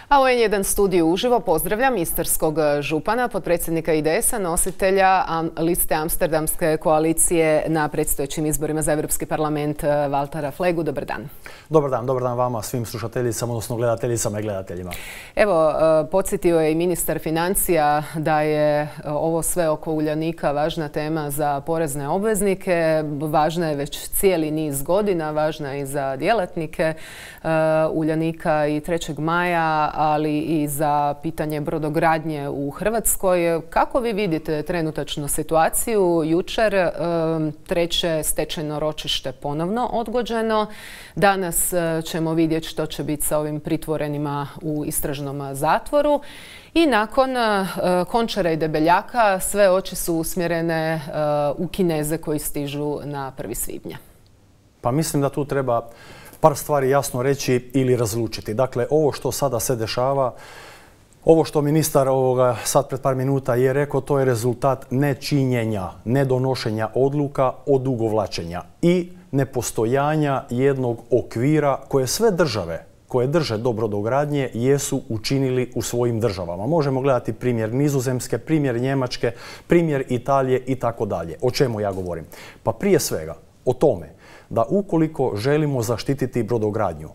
A u N1 studiju uživo pozdravljam istarskog župana, potpredsjednika IDS-a, nositelja liste Amsterdamske koalicije na predstojećim izborima za Europski parlament Valtera Flegu. Dobar dan. Dobar dan vama, svim slušateljicama, odnosno gledateljicama i gledateljima. Evo, podsjetio je i ministar financija da je ovo sve oko Uljanika važna tema za porezne obveznike. Važna je već cijeli niz godina, važna je i za djelatnike Uljanika i 3. maja, ali i za pitanje brodogradnje u Hrvatskoj. Kako vi vidite trenutačnu situaciju? Jučer treće stečajno ročište ponovno odgođeno. Danas ćemo vidjeti što će biti sa ovim pritvorenima u istražnom zatvoru. I nakon Končara i Debeljaka sve oči su usmjerene u Kineze koji stižu na 1. svibnja. Pa mislim da tu treba par stvari jasno reći ili razlučiti. Dakle, ovo što sada se dešava, ovo što ministar sad pred par minuta je rekao, to je rezultat nečinjenja, nedonošenja odluka, odugovlačenja i nepostojanja jednog okvira koje sve države koje drže do brodogradnje jesu učinili u svojim državama. Možemo gledati primjer Nizozemske, primjer Njemačke, primjer Italije i tako dalje. O čemu ja govorim? Pa prije svega o tome da ukoliko želimo zaštititi brodogradnju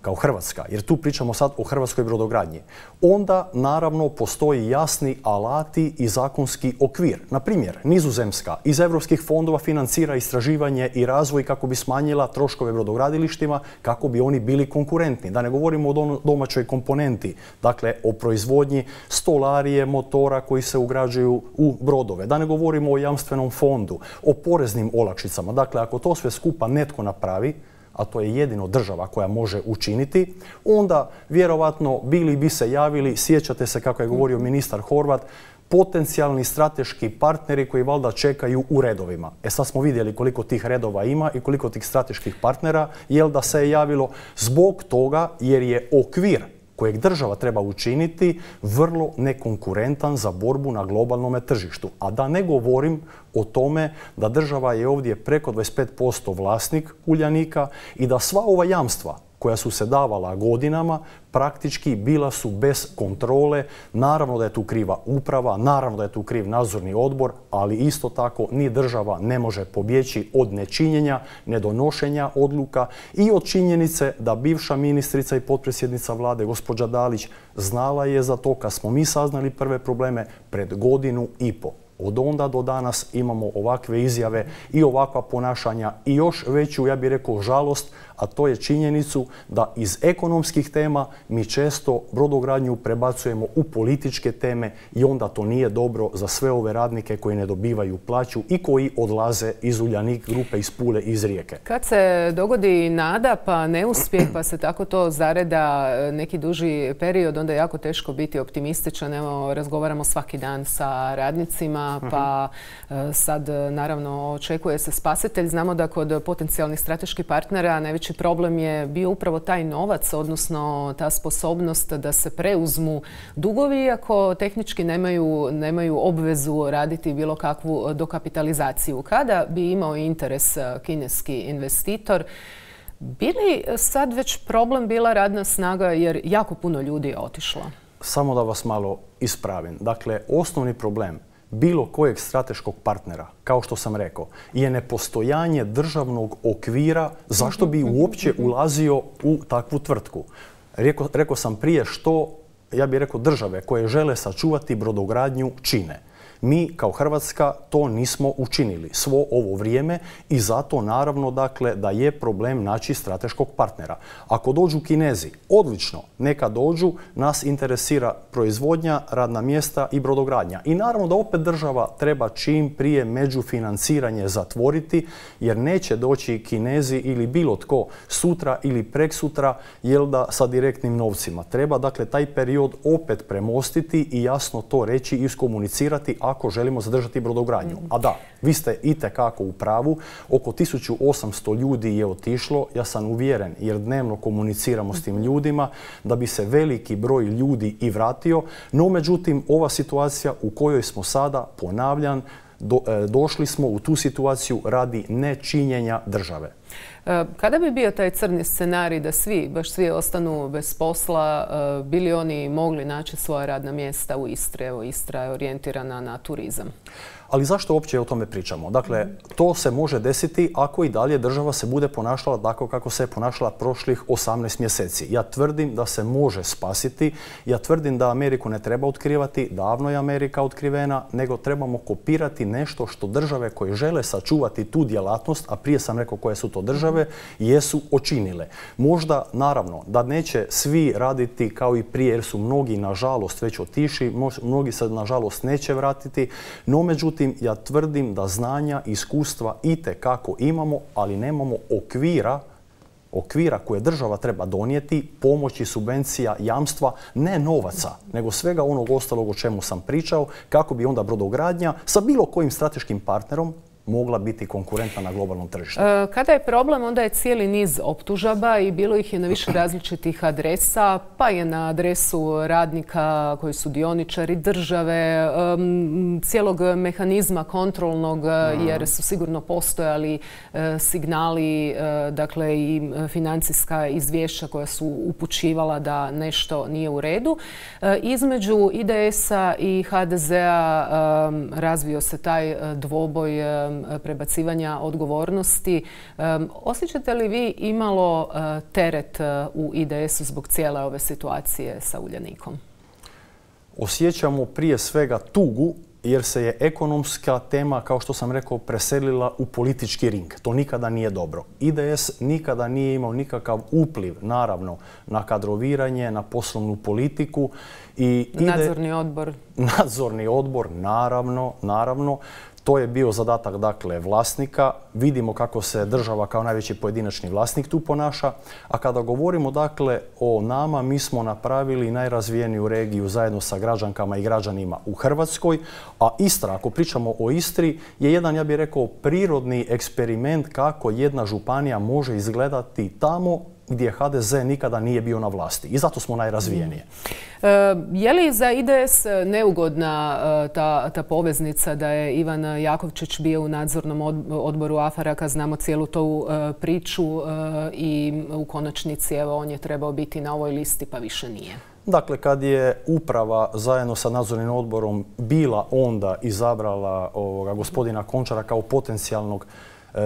kao Hrvatska, jer tu pričamo sad o hrvatskoj brodogradnji, onda naravno postoji jasni alati i zakonski okvir. Na primjer, Nizozemska iz europskih fondova financira istraživanje i razvoj kako bi smanjila troškove brodogradilištima, kako bi oni bili konkurentni. Da ne govorimo o domaćoj komponenti, dakle o proizvodnji stolarije, motora koji se ugrađuju u brodove. Da ne govorimo o jamstvenom fondu, o poreznim olakšicama. Dakle, ako to sve skupa netko napravi, a to je jedino država koja može učiniti, onda vjerovatno bili bi se javili, sjećate se kako je govorio ministar Horvat, potencijalni strateški partneri koji valjda čekaju u redovima. Sad smo vidjeli koliko tih redova ima i koliko tih strateških partnera, jel da se je javilo zbog toga jer je okvir kojeg država treba učiniti vrlo nekonkurentan za borbu na globalnom tržištu. A da ne govorim o tome da država je ovdje preko 25% vlasnik Uljanika i da sva ova jamstva koja su se davala godinama praktički bila su bez kontrole. Naravno da je tu kriva uprava, naravno da je tu kriv nadzorni odbor, ali isto tako ni država ne može pobjeći od nečinjenja, nedonošenja odluka i od činjenice da bivša ministrica i potpredsjednica vlade gospođa Dalić znala je za to kad smo mi saznali prve probleme pred 1,5 godinu. Od onda do danas imamo ovakve izjave i ovakva ponašanja i još veću, ja bih rekao, žalost, a to je činjenicu da iz ekonomskih tema mi često brodogradnju prebacujemo u političke teme i onda to nije dobro za sve ove radnike koji ne dobivaju plaću i koji odlaze iz Uljanik grupe, iz Pule, iz Rijeke. Kad se dogodi nada pa neuspjeh pa se tako to zareda neki duži period, onda je jako teško biti optimističan. Evo, razgovaramo svaki dan sa radnicima, pa sad naravno očekuje se spasitelj. Znamo da kod potencijalnih strateških partnera najveći problem je bio upravo taj novac, odnosno ta sposobnost da se preuzmu dugovi, iako tehnički nemaju obvezu raditi bilo kakvu dokapitalizaciju. Kada bi imao interes kineski investitor, bi li sad već problem bila radna snaga jer jako puno ljudi je otišlo? Samo da vas malo ispravim. Dakle, osnovni problem bilo kojeg strateškog partnera, kao što sam rekao, je nepostojanje državnog okvira zašto bi uopće ulazio u takvu tvrtku. Rekao sam prije što, ja bih rekao, države koje žele sačuvati brodogradnju čine. Mi kao Hrvatska to nismo učinili svo ovo vrijeme i zato naravno dakle da je problem naći strateškog partnera. Ako dođu Kinezi, odlično, neka dođu, nas interesira proizvodnja, radna mjesta i brodogradnja. I naravno da opet država treba čim prije međufinanciranje zatvoriti jer neće doći Kinezi ili bilo tko sutra ili preksutra jel da sa direktnim novcima. Treba dakle taj period opet premostiti i jasno to reći i iskomunicirati ako želimo zadržati brodogradnju. A da, vi ste itekako u pravu, oko 1800 ljudi je otišlo, ja sam uvjeren jer dnevno komuniciramo s tim ljudima da bi se veliki broj ljudi i vratio, no međutim ova situacija u kojoj smo sada, ponavljam, došli smo u tu situaciju radi nečinjenja države. Kada bi bio taj crni scenarij da baš svi ostanu bez posla, bili oni mogli naći svoja radna mjesta u Istri? Evo, Istra je orijentirana na turizam. Ali zašto uopće o tome pričamo? Dakle, to se može desiti ako i dalje država se bude ponašala tako kako se je ponašala prošlih 18 mjeseci. Ja tvrdim da se može spasiti, ja tvrdim da Ameriku ne treba otkrivati, davno je Amerika otkrivena, nego trebamo kopirati nešto što države koje žele sačuvati tu djelatnost, a prije sam rekao koje su to države, jesu učinile. Možda, naravno, da neće svi raditi kao i prije, jer su mnogi, nažalost, već otišli, mnogi se, nažalost, neće vratiti, no međutim, ja tvrdim da znanja i iskustva itekako imamo, ali nemamo okvira koje država treba donijeti, pomoći, subvencija, jamstva, ne novaca, nego svega onog ostalog o čemu sam pričao, kako bi onda brodogradnja sa bilo kojim strateškim partnerom mogla biti konkurentna na globalnom tržištu. Kada je problem, onda je cijeli niz optužaba i bilo ih je na više različitih adresa, pa je na adresu radnika koji su dioničari države, cijelog mehanizma kontrolnog, jer su sigurno postojali signali, dakle i financijska izvješća koja su upućivala da nešto nije u redu. Između IDS-a i HDZ-a razvio se taj dvoboj prebacivanja odgovornosti. Osjećate li vi imalo teret u IDS-u zbog cijele ove situacije sa Uljanikom? Osjećamo prije svega tugu jer se je ekonomska tema, kao što sam rekao, preselila u politički ring. To nikada nije dobro. IDS nikada nije imao nikakav upliv, naravno, na kadroviranje, na poslovnu politiku. Nadzorni odbor? Nadzorni odbor, naravno. To je bio zadatak, dakle, vlasnika. Vidimo kako se država kao najveći pojedinačni vlasnik tu ponaša. A kada govorimo, dakle, o nama, mi smo napravili najrazvijeniju regiju zajedno sa građankama i građanima u Hrvatskoj. A Istra, ako pričamo o Istri, je jedan, ja bih rekao, prirodni eksperiment kako jedna županija može izgledati tamo gdje HDZ nikada nije bio na vlasti. I zato smo najrazvijenije. Je li za IDS neugodna ta poveznica da je Ivan Jakovčić bio u nadzornom odboru Afaraka? Znamo cijelu tu priču i u konačnici evo, on je trebao biti na ovoj listi pa više nije. Dakle, kad je uprava zajedno sa nadzornim odborom bila onda izabrala gospodina Končara kao potencijalnog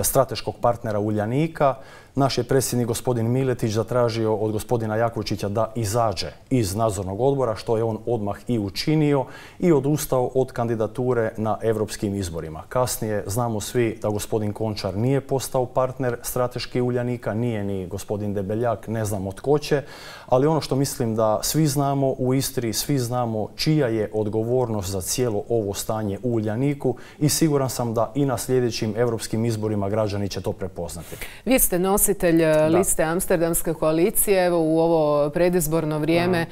strateškog partnera Uljanika, naš je predsjednik gospodin Miletić zatražio od gospodina Jakovčića da izađe iz nadzornog odbora, što je on odmah i učinio i odustao od kandidature na europskim izborima. Kasnije znamo svi da gospodin Končar nije postao partner strateški Uljanika, nije ni gospodin Debeljak, ne znamo tko će, ali ono što mislim da svi znamo u Istri, svi znamo čija je odgovornost za cijelo ovo stanje u Uljaniku i siguran sam da i na sljedećim europskim izborima građani će to prepoznati. Vi ste nositelj liste Amsterdamske koalicije. Evo u ovo predizborno vrijeme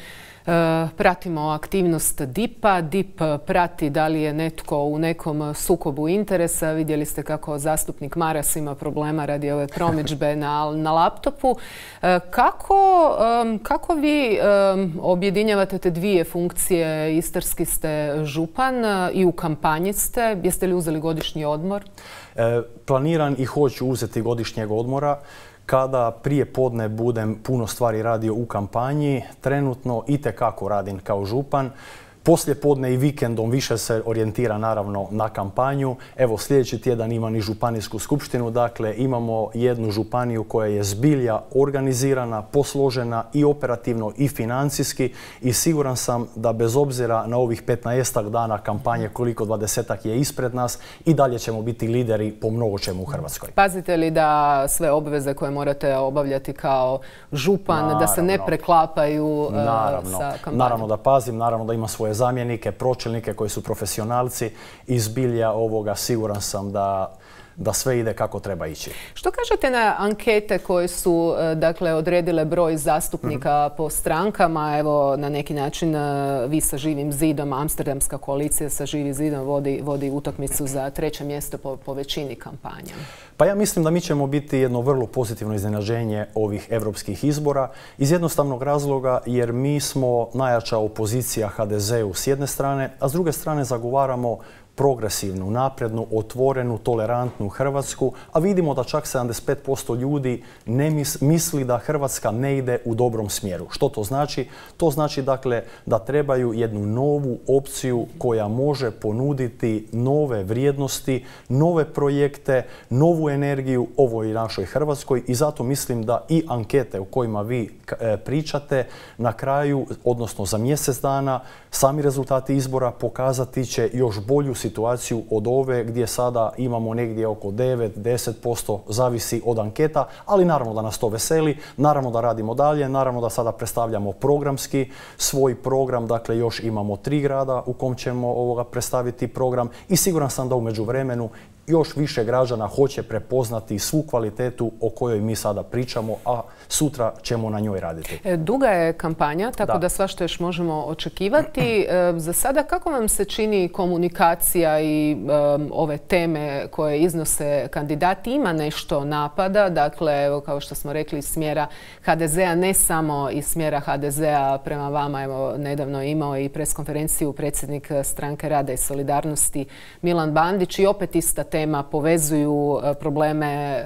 pratimo aktivnost DIP-a. DIP prati da li je netko u nekom sukobu interesa. Vidjeli ste kako zastupnik Maras ima problema radi ove promidžbe na laptopu. Kako vi objedinjavate te dvije funkcije? Istarski ste župan i u kampanji ste. Jeste li uzeli godišnji odmor? Planiram i hoću uzeti godišnjeg odmora. Kada prije podne budem puno stvari radio u kampanji, trenutno itekako radim kao župan. Poslije podne i vikendom više se orijentira naravno na kampanju. Evo sljedeći tjedan imam i županijsku skupštinu, dakle imamo jednu županiju koja je zbilja organizirana, posložena i operativno i financijski i siguran sam da bez obzira na ovih 15 dana kampanje koliko 20 je ispred nas i dalje ćemo biti lideri po mnogo čemu u Hrvatskoj. Pazite li da sve obveze koje morate obavljati kao župan, da se ne preklapaju sa kampanjom? Naravno da pazim, naravno da ima svoje zamjenike, pročelnike koji su profesionalci i zbilja ovoga siguran sam da sve ide kako treba ići. Što kažete na ankete koje su dakle, odredile broj zastupnika po strankama? Evo, na neki način vi sa Živim zidom, Amsterdamska koalicija sa Živim zidom vodi utakmicu za 3. mjesto po većini kampanja. Pa ja mislim da mi ćemo biti jedno vrlo pozitivno iznenađenje ovih europskih izbora iz jednostavnog razloga jer mi smo najjača opozicija HDZ-u s jedne strane, a s druge strane zagovaramo progresivnu, naprednu, otvorenu, tolerantnu Hrvatsku, a vidimo da čak 75% ljudi ne misli da Hrvatska ne ide u dobrom smjeru. Što to znači? To znači dakle da trebaju jednu novu opciju koja može ponuditi nove vrijednosti, nove projekte, novu energiju ovoj našoj Hrvatskoj i zato mislim da i ankete u kojima vi pričate na kraju, odnosno za mjesec dana, sami rezultati izbora pokazati će još bolju situaciju od ove gdje sada imamo negdje oko 9-10%, zavisi od anketa, ali naravno da nas to veseli, naravno da radimo dalje, naravno da sada predstavljamo programski svoj program, dakle još imamo 3 grada u kom ćemo predstaviti program i siguran sam da u međuvremenu još više građana hoće prepoznati svu kvalitetu o kojoj mi sada pričamo, a sutra ćemo na njoj raditi. Duga je kampanja, tako da svašta još možemo očekivati. Za sada kako vam se čini komunikacija i ove teme koje iznose kandidati? Ima nešto napada, dakle, evo, kao što smo rekli, iz smjera HDZ-a, ne samo iz smjera HDZ-a prema vama. Evo, nedavno je imao i preskonferenciju predsjednik Stranke rada i solidarnosti Milan Bandić i opet ista tema, povezuju probleme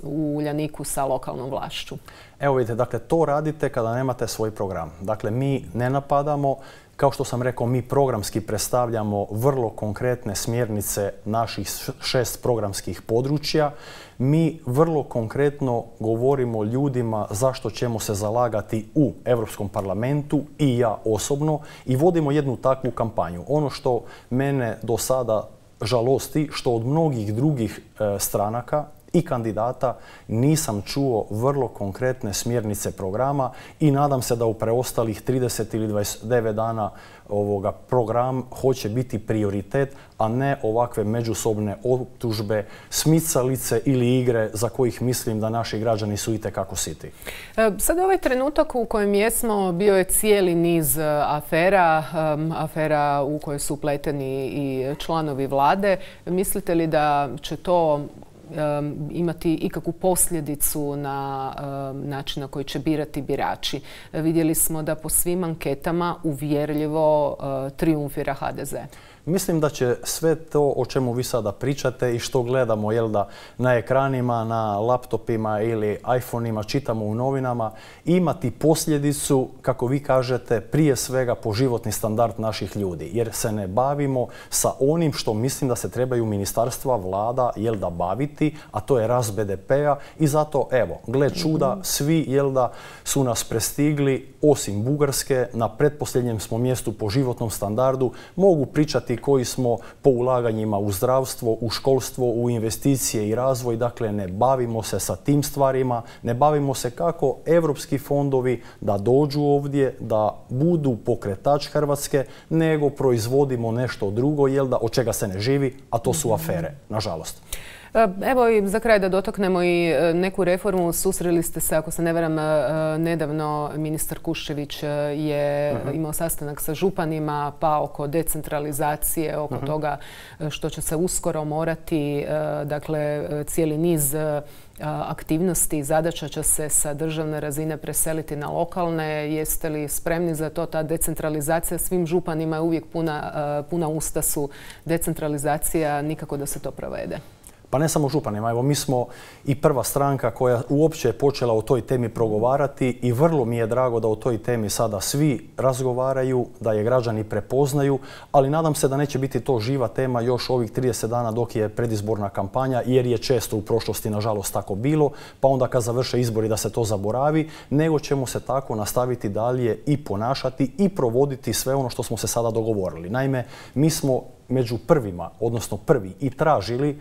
u Uljaniku sa lokalnom vlašću. Evo vidite, dakle to radite kada nemate svoj program. Dakle mi ne napadamo, kao što sam rekao, mi programski predstavljamo vrlo konkretne smjernice naših 6 programskih područja. Mi vrlo konkretno govorimo ljudima zašto ćemo se zalagati u Europskom parlamentu i ja osobno i vodimo jednu takvu kampanju. Ono što mene do sada žalosti, što od mnogih drugih stranaka i kandidata nisam čuo vrlo konkretne smjernice programa i nadam se da u preostalih 30 ili 29 dana ovoga program hoće biti prioritet, a ne ovakve međusobne optužbe, smicalice ili igre za kojih mislim da naši građani su itekako siti. Sad ovaj trenutak u kojem jesmo bio je cijeli niz afera u koje su upleteni i članovi vlade. Mislite li da će to imati ikakvu posljedicu na način na koji će birati birači? Vidjeli smo da po svim anketama uvjerljivo trijumfira HDZ. Mislim da će sve to o čemu vi sada pričate i što gledamo na ekranima, na laptopima ili iPhoneima, čitamo u novinama, imati posljedicu, kako vi kažete, prije svega po životni standard naših ljudi. Jer se ne bavimo sa onim što mislim da se trebaju ministarstva, vlada, baviti, a to je rast BDP-a i zato, evo, gle čuda, svi, su nas prestigli, osim Bugarske, na pretposljednjem smo mjestu po životnom standardu, mogu pričati koji smo po ulaganjima u zdravstvo, u školstvo, u investicije i razvoj. Dakle, ne bavimo se sa tim stvarima, ne bavimo se kako evropski fondovi da dođu ovdje, da budu pokretač Hrvatske, nego proizvodimo nešto drugo, od čega se ne živi, a to su afere, nažalost. Evo i za kraj da dotaknemo i neku reformu. Susreli ste se, ako se ne varam, nedavno ministar Kuščević je imao sastanak sa županima, pa oko decentralizacije, oko toga što će se uskoro morati, dakle cijeli niz aktivnosti i zadaća će se sa državne razine preseliti na lokalne. Jeste li spremni za to? Ta decentralizacija svim županima je uvijek puna usta su decentralizacija, nikako da se to provede. Pa ne samo županima, evo mi smo i prva stranka koja uopće je počela o toj temi progovarati i vrlo mi je drago da o toj temi sada svi razgovaraju, da je građani prepoznaju, ali nadam se da neće biti to živa tema još ovih 30 dana dok je predizborna kampanja, jer je često u prošlosti nažalost tako bilo, pa onda kad završe izbori da se to zaboravi, nego ćemo se tako nastaviti dalje i ponašati i provoditi sve ono što smo se sada dogovorili. Naime, mi smo među prvima, odnosno prvi, i tražili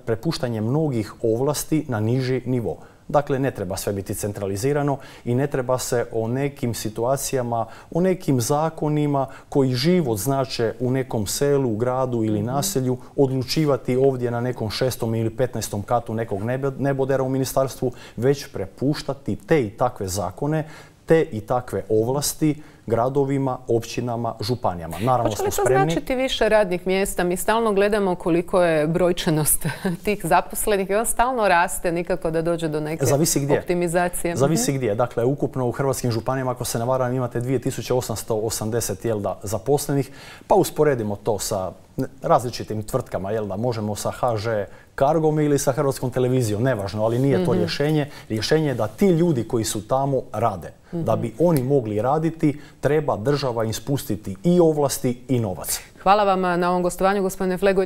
prepuštanje mnogih ovlasti na niži nivo. Dakle, ne treba sve biti centralizirano i ne treba se o nekim situacijama, o nekim zakonima koji život znače u nekom selu, gradu ili naselju odlučivati ovdje na nekom 6. ili 15. katu nekog nebodera u ministarstvu, već prepuštati te i takve zakone, te i takve ovlasti gradovima, općinama, županijama. Naravno smo spremni. Hoće li to značiti više radnih mjesta? Mi stalno gledamo koliko je brojčanost tih zaposlenih i on stalno raste, nikako da dođe do neke optimizacije. Zavisi gdje. Dakle, ukupno u hrvatskim županijama, ako se ne varam, imate 2880 zaposlenih, pa usporedimo to sa različitim tvrtkama, jel da možemo sa HŽ Cargom ili sa Hrvatskom televizijom, nevažno, ali nije to rješenje. Rješenje je da ti ljudi koji su tamo rade. Da bi oni mogli raditi, treba država im spustiti i ovlasti i novac. Hvala vam na ovom gostovanju, gospodine Flego.